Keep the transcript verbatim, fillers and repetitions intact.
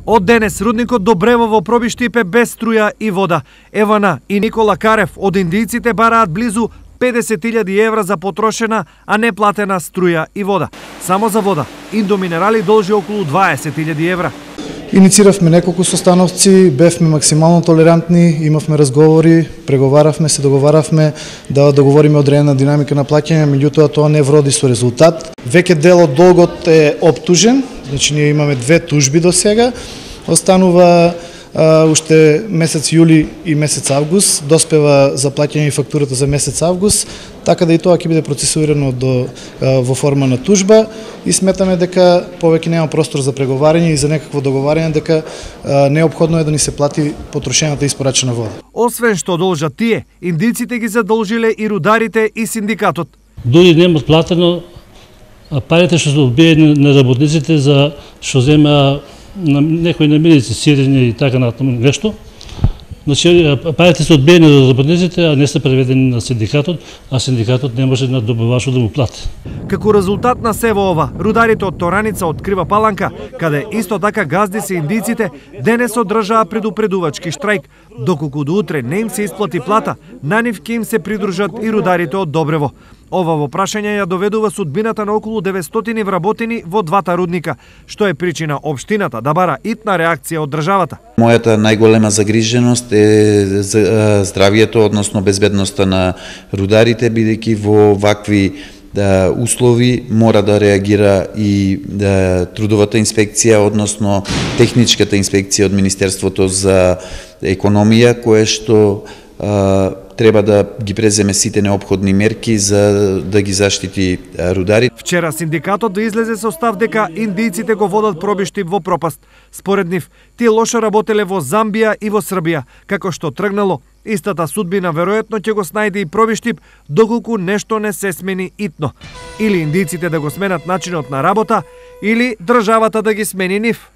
Од денес рудникот Добревово пробиштип е без струја и вода. Евана и Никола Карев од индијците бараат близу педесет илјади евра за потрошена, а не платена струја и вода. Само за вода Индоминерали должи околу дваесет илјади евра. Иницииравме неколку состановци, бевме максимално толерантни, имавме разговори, преговаравме, се договаравме да договориме одредена динамика на плаќање, меѓутоа тоа не вроди со резултат. Веќе дел од долгот е оптужен, значи ние имаме две тужби до сега, останува а, уште месец јули и месец август, доспева за плаќање и фактурата за месец август, така да и тоа ќе биде процесуирано до, а, во форма на тужба и сметаме дека повеќе нема простор за преговарање и за некакво договарање, дека а, неопходно е да ни се плати потрошената и испорачена вода. Освен што должат тие, индиците ги задолжиле и рударите и синдикатот. Дури немат платено, а парите што се одбиени на работниците за што зема на некои намирици, сирење и така натаму нешто. Значи, парите се одбиени за работниците, а не се преведени на синдикатот, а синдикатот не може на добавачот да му плати. Како резултат на сево ова, рударите од Тораница открива Паланка, каде исто така газди се индијците, денес одржаа предупредувачки штрајк, доколку до утре не им се исплати плата, на нив ќе им се придружат и рударите од Добрево. Ова во прашање ја доведува судбината на околу деветстотини вработени во двата рудника, што е причина општината да бара итна реакција од државата. Мојата најголема загриженост е здравието, односно безбедноста на рударите, бидејќи во вакви да, услови мора да реагира и да, трудовата инспекција, односно техничката инспекција од Министерството за економија, кое што а, треба да ги преземе сите неопходни мерки за да ги заштити рудари. Вчера синдикатот да излезе со став дека индијците го водат пробиштип во пропаст. Според нив, тие лошо работеле во Замбија и во Србија, како што тргнало, истата судбина веројатно ќе го снајде и пробиштип доколку нешто не се смени итно. Или индијците да го сменат начинот на работа, или државата да ги смени нив.